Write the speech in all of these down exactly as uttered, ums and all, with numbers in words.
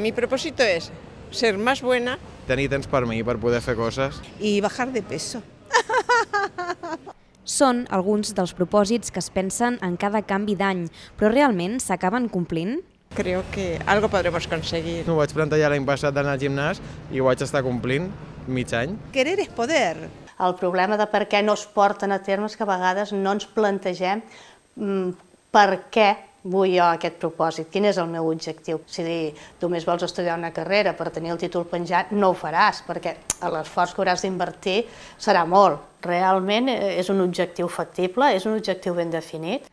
mi propósito es ser más buena. Tenir temps per mi, per poder fer coses. I bajar de peso. Són alguns dels propòsits que es pensen en cada canvi d'any, però realment s'acaben complint? Creo que algo podremos conseguir. M'ho vaig plantejar l'any passat d'anar al gimnàs i ho vaig estar complint mig any. Querer és poder. El problema de per què no es porten a termes que a vegades no ens plantegem mm, per què vull jo aquest propòsit, quin és el meu objectiu. Si només vols estudiar una carrera per tenir el títol penjat, no ho faràs, perquè l'esforç que hauràs d'invertir serà molt. Realment és un objectiu factible, és un objectiu ben definit.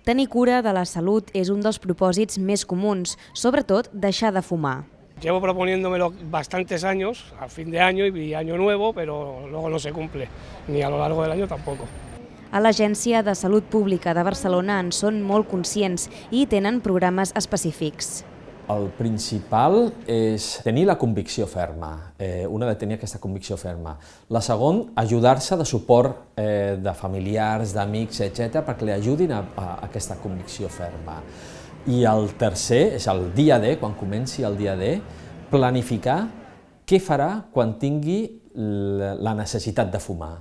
Tenir cura de la salut és un dels propòsits més comuns, sobretot deixar de fumar. Llevo proponiéndomelo bastantes años, a fin de año y año nuevo, pero luego no se cumple, ni a lo largo del año tampoco. A l'Agència de Salut Pública de Barcelona en són molt conscients i tenen programes específics. El principal és tenir la convicció ferma, eh, un ha de tenir aquesta convicció ferma. La segona, ajudar-se de suport eh, de familiars, d'amics, etcètera, perquè li ajudin a, a aquesta convicció ferma. I el tercer és el dia D, quan comenci el dia D, planificar què farà quan tingui la necessitat de fumar.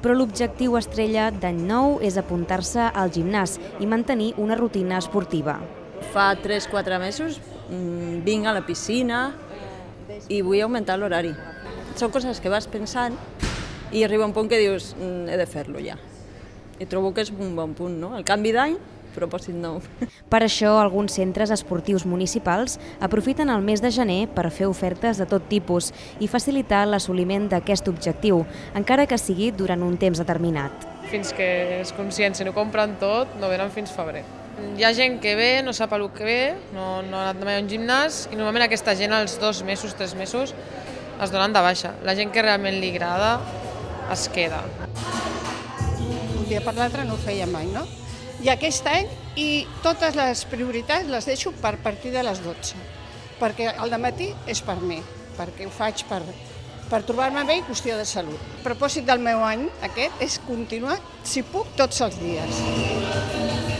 Però l'objectiu estrella d'any nou és apuntar-se al gimnàs i mantenir una rutina esportiva. Fa tres o quatre mesos vinc a la piscina i vull augmentar l'horari. Són coses que vas pensant i arriba un punt que dius he de fer-lo ja. I trobo que és un bon punt, no? El canvi d'any, propòsit nou. Per això, alguns centres esportius municipals aprofiten el mes de gener per fer ofertes de tot tipus i facilitar l'assoliment d'aquest objectiu, encara que sigui durant un temps determinat. Fins que és conscient, si no compren tot, no venen fins febrer. Hi ha gent que ve, no sap el que ve, no, no ha anat mai a un gimnàs i normalment aquesta gent als dos mesos, tres mesos es donen de baixa. La gent que realment li agrada es queda. Un dia per l'altre no ho feia mai, no? I aquest any, i totes les prioritats les deixo per partir de les dotze, perquè al dematí és per mi, perquè ho faig per, per trobar-me bé i qüestió de salut. El propòsit del meu any aquest és continuar, si puc, tots els dies.